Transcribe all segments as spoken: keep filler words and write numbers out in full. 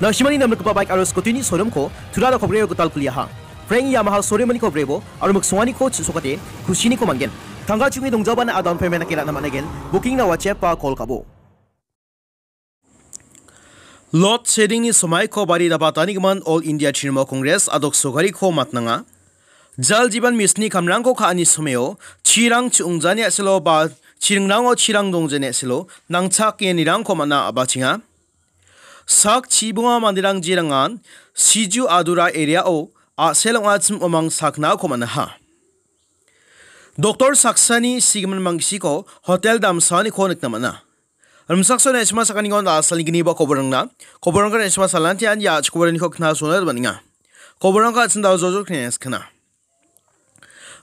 Na·simani namnikgipa baik aro scooty-ni showroom-ko Tura Rokhobrio gital kuliaha. Frank Yamaha showroom-niko brebo aro miksonganiko chisokate kusiniko man·gen. Tangka chungi dongjabana a-down payment dake ra·na man·aigen. Booking-na WhatsApp-ba call ka·bo. Load shedding-ni somaiko bari dapatanigimin All India Trinamool Congress a·dok sokariko matnanga. Jal Jeevan Mission-ni kamrangko ka·ani somao chirang chi·ongjani a·selo ba chiringrango chirang dongjani a·selo nangchakenirangko man·a a·bachenga. Sak chibonga manderang jerangan Siju Adura area-o a·sel ong·achim omang saknako man·aha. Doktor saksani sigimin mangsiko hotel damsaaniko nikna man·a. Rimsakso na·sima sakaniko da·salni gniba koborangna. Koborangko na·sima salantian ia chikobaraniko kna sona man·enga. Koborangko an·ching dao jojok kna skana.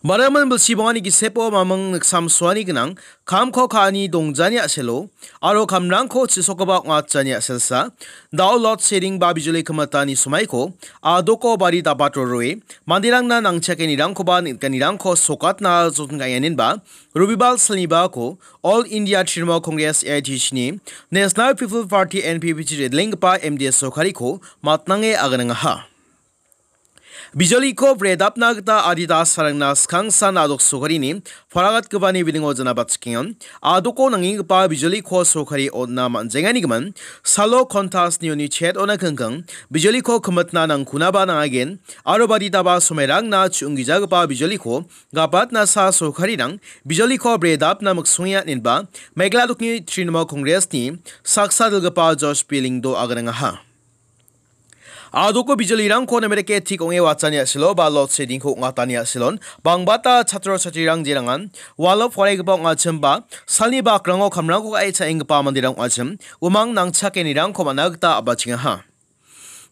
Baraman bilsi bongani gisepo mamung niksamsoani gnang, kamko ka·ani dongjani a·selo, aro kamrangko chisokoba ong·atjani a·selsa, dao load shedding ba bijoli kimitani somaiko, a·doko bari dapat roroe, manderangna nangchakenirangkoba nikganirangko sokatna jotin ka·engenba, Robibal salnibako All India Trinamool Congress, A I T C-ni National People Party, N P P-chi redlenggipa M D A sorkariko matnange aganangaha. Bijoliko bredapna gita adita sarangna skangsan a·dok sorkarini paragatgipani bidingo janabatchikengan. A·doko nangenggipa bijoliko sorkari on·na man·jengani gimin, salo kontas nioni chet on·a kingking, bijoliko kimitna nangkunaba nangagen, aro baditaba somairangna chu·onggijagipa bijoliko gapatnasa sorkarirang bijoliko bredapna miksongenga inenba Meghalaya dokni Trinamool Congress-ni saksa dilgipa Josh P Lyngdoh aganangaha. A·doko bijolirangko namerike tik ong·e watani a·selo ba load shedding-ko ong·atani a·selon bangbata chatro chatrirang jerangan walo poraigipa ong·achim ba salni bakrango kamrangko ka·e cha·enggipa manderang ong·achim umang nangchakenirangko man·a gita a·bachengaha.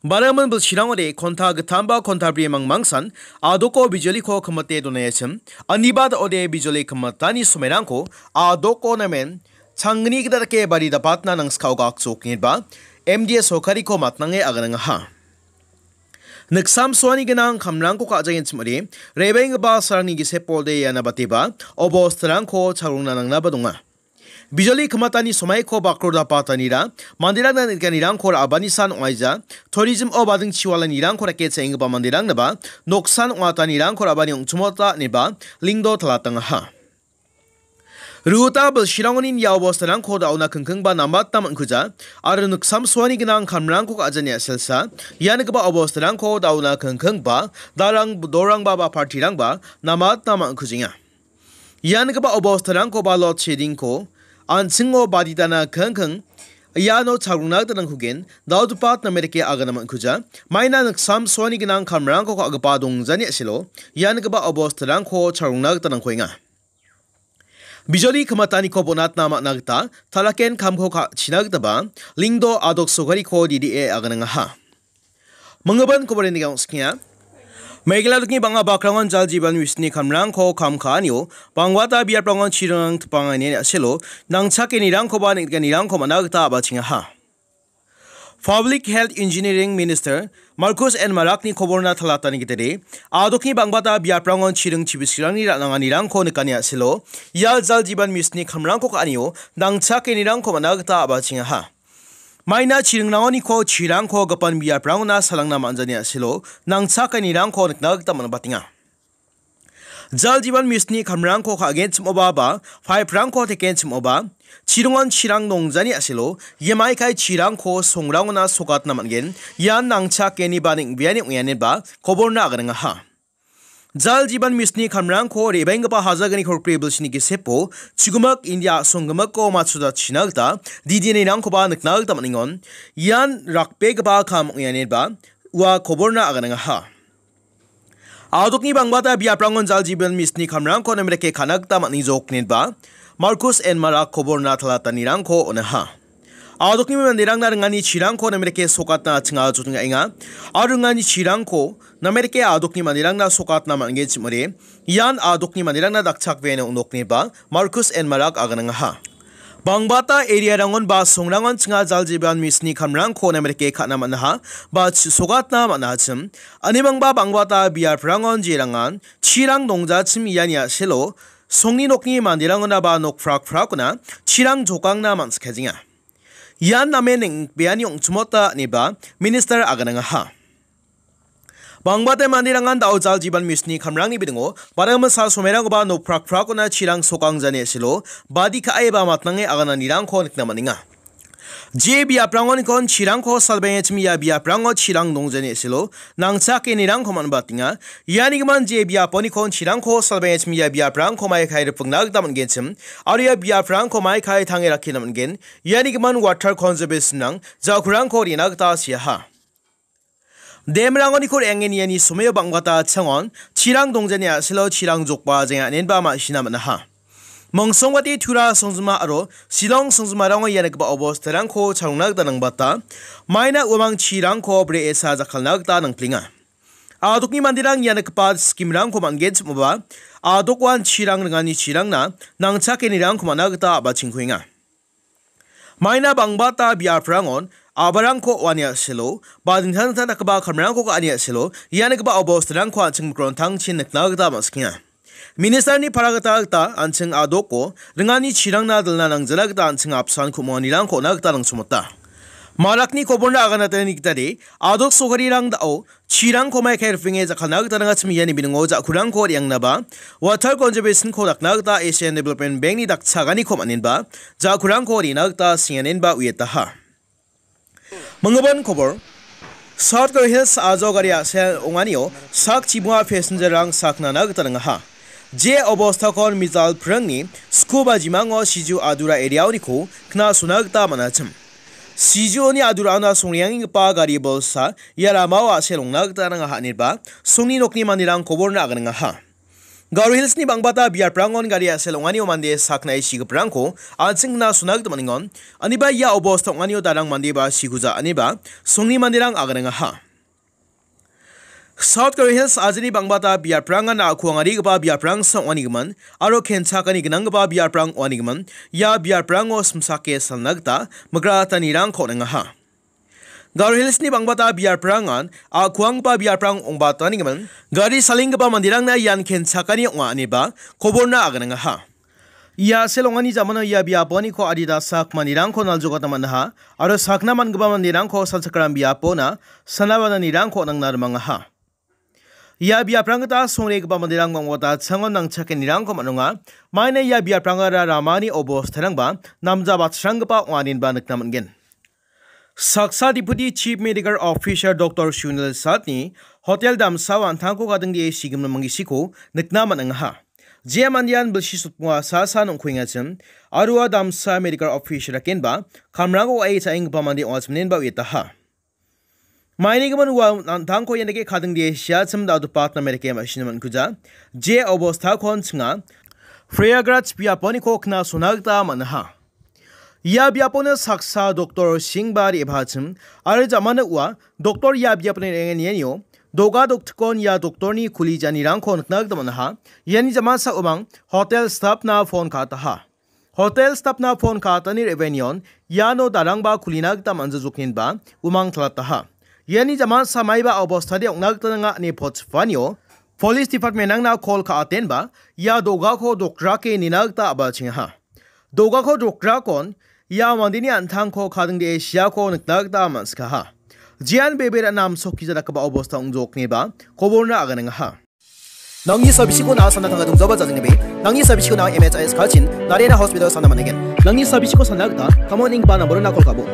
Baraman bilsirangode konta gittam ba konta bri mangmangsan a·doko bijoliko kimite donaiachim, aniba da·ode bijoli kimitani somairangko a·doko namen changni gita dake bari dapatna nangskao gakjok ineba M D A sorkariko matnange aganangaha. Niksamsoani gnang kamrangko ka·jagenchim ong·ode, rebenggipa sarangni gisepode iana bateba, obostarangko chagrongna nangnaba donga. Bijoli kimitani somaiko bakro dapatanira, manderangna nikganirangko ra·abanisan ong·aija, tourism-o bading chiwalanirangko rake cha·enggipa manderangnaba, noksan ong·atanirangko ra·bani ong·chimota ineba, Lyngdoh talatangaha. Ruta bilsirangoni ia obostarangko da·ona kingkingba namatna man·kuja, aro niksamsoani gnang kamrangko ka·jani a·selsa, ianigipa obostarangko da·ona kingkingba, darang, dorangba ba partirangba namatna man·kujenga. Ianigipa obostarangko ba load shedding-ko an·chingo baditana kingking iano chagrongna gita nangkugen, daodupat namerike agana man·kuja, maina niksamsoani gnang kamrangko ka·gipa dongjani a·selo, ianigipa obostarangko chagrongna gita nangkuenga. Bijoli kimitaniko bonatna man·a gita talaken kamko ka·china gitaba Lyngdoh a·dok sorkariko D D A aganangaha. Minggipa koborini gangskia. Meghalaya dokni bang·a bakrangon Jal Jeevan Mission-ni kamrangko kam ka·anio bangbata biaprangon chiringrang tipangani a·selo nangchakenirangkoba nikganirangko man·a gita a·bachengaha. Public Health Engineering Minister Markus N Marakni koborna talatani gitade, a·dokni bangbata biaprangon chiring chibisrangni ra·nanganirangko nikani a·selo, ia Jal Jeevan Mission-ni kamrangko ka·anio nangchakenirangko man·a gita a·bachengaha. Maina chiringrangoniko chirangko gipin biaprangona salangna man·jani a·selo, nangchakenirangko nikna gita man·batenga. Jal Jeevan Mission-ni kamrangko ka·genchimoba ba, pipe-rangko tekenchimoba, chiringon chirang dongjani a·selo, ia maikai chirangko songrangona sokatna man·gen, ian nangchakeni ba neng·beani ong·enba, koborna aganangaha. Jal Jeevan Mission-ni kamrangko re·baenggipa hajalgni korkri bilsini gisepo, chigimik India a·songgimiko matchotachina gita, D D A-nirangkoba nikna gita man·engon, ian rakbegipa kam ong·enba, ua koborna aganangaha. A·dokni bangbata biaprangon Jal Jeevan Mission-ni kamrangko namerike ka·na gita man·jok inenba, Markus N Marak koborna talatanirangko on·aha. A·dokni manderangna ringani chirangko namerike sokatna chinga jotingaenga. Aro ringani chirangko namerike a·dokni manderangna sokatna man·genchim ong·ode, ian a·dokni manderangna dakchakbeani ong·nok inenba, Markus N Marak aganangaha. Bangbata area-rangon ba songrangon chinga Jal Jeevan Mission-ni kamrangko namerike ka·na man·aha, ba chi-, sokatna man·achim. Ani bangba bangbata biaprangon jerangan chirang dongjachim iani a·selo, songni nokni manderangona ba nok prak-prakona chirang jokangna man·sikajenga. Ian namen neng·beani ong·chimota ineba minister aganangaha. Bangbate manderangan da·o jal jiban misni kamrangni bidingo badamasa somerangkoba nokprak prakona chirang sokangjani silo badi ka·eba matnange agananirangko nikna man·enga. Je biaprangonikon chirangko salbengechim ia biaprango chirang dongjani silo nangchakenirangko man·batenga. Ianigimin je biaponikon chirangko salbengechim ia biaprangko mai kai ripingna gita man·genchim aro ia biaprangko mai kai tange rakkina man·gen. Ianigimin water conservation-rang jakurangko rina gita siaha. Dam-rangoniko re·angen iani someo bang·bata changon chirang dongjani a·selo chirang jokba jenga anenba ma·sina man·aha. Mongsongbate Tura songjima aro Shillong songjimarango ia nikgipa obostarangko chalongna gita nangbata maina uamang chirangko bre·esa jakkalna gita nangplenga. Adokni manderang ia nikgipa scheme-rangko man·genchimoba, adokuan chirang ringani chirangna nangchakenirangko man·a gita a·bachengkuenga. Maina bangbata biaprangon a·barangko uani a·selo, ba dingtang dingtang dakgipa kamrangko ka·ani a·selo, ia nikgipa obostarangko an·ching mikrontangchin nikna gita man·sikenga. Minister-ni para gita gita an·ching adoko ringani chirangna dilna nangjana gita an·ching apsan ku·monganirangko on·a gita nangchomota. Marakni koborna aganatani gitade, adok sokarirang da·o chirangko mai kai ripenge jakkalna gita nangachim iani biningo jakurangko re·angnaba, water conservation-ko dakna gita Asian Development Bank-ni dakchaganiko man·enba, jakurangko rina gita singanenba uiataha. Minggimin kobor, South Garo Hills a·jo gari a·sel ong·anio sak chibima passenger-rang saknana gita nangaha. Je obostakon mijal pringni sku ba jimango Siju Adura area-oniko knasona gita man·achim. Sijuoni Aduraona songreangenggipa gari bolsa ia ramao a·sel ong·na gita nangaha ineba songni nokni manderang koborna aganangaha. Garo Hills-ni bangbata biaprangon gari a·sel ong·anio mande saknae sigiparangko an·ching knasona gita man·engon. Aniba ia obosta ong·anio darang mandeba siguja ineba songni manderang aganangaha. South Garo Hills a·jini bangbata biaprangan a·kuangarigipa biaprangsa ong·anigimin aro kenchakani gnanggipa biaprang ong·anigimin ia biaprango simsake salna gita migratanirangko on·engaha. Garo Hills-ni bangbata biaprangan a·kuanggipa biaprang ong·batanigimin gari salenggipa manderangna ian kenchakani ong·a ineba koborna aganangaha. Ia a·sel ong·ani jamano ia biaponiko adita sak manderangko naljokatna man·aha aro sakna man·gipa manderangko sal chakram biapona sanabananirangko nangna rimangaha. Ia biaprang gita songregipa manderang bang·bata changon nangchakenirangko man·onga. Maina ia biaprangara ramani obostarangba namja batsranggipa ong·aninba nikna man·gen. Saksa Deputy Chief Medical Officer Doktor Sunil Satni hotel damsao an·tangko gadingdee sigimin manggisiko nikna man·angaha. Jia mandean bilsi sotmoa sa sa nongkuengachim, aro ua damsa medical officer dakenba kamrango wa·e cha·enggipa mande ong·achimnenba uiataha. Mainigimin ua an·tangko ian dake kadingdee siachim da·o dipatna mereke ma·sina man·kuja. Je obostakon chinga Prayagraj biaponiko knasona gita man·aha. Ia biapona saksa doktor Singh ba re·baachim, aro jamano ua doktor ia biapni re·angen ianio doga doktikon ia doktorni kuli janirangko nikna gita man·aha. Iani jamasa umang hotel staff-na phone ka·ataha. Hotel staff-na phone ka·atani re·benion iano darangba kulina gita man·jajoknenba umang talataha. Iani jamasa maiba obostade ong·na gita nanga ine pochipanio police department-rangna call ka·atenba ia dogako dokrake nina gita a·bachengaha. Dogako drakrakon ia mandeni an·tangko kadingdee siako nikna gita man·sikaha. Jean bebe ra·na amsokija dakgipa obosta ong·jokneba koborna aganengaha. Nangni sabisiko na·a sana tanga dongjaoba jajengebe, nangni sabisiko na·a M H I S kachin, Narayana Hospital sana man·aigen. Nangni sabisiko sana gita, kamon ingba namborona call ka·bo.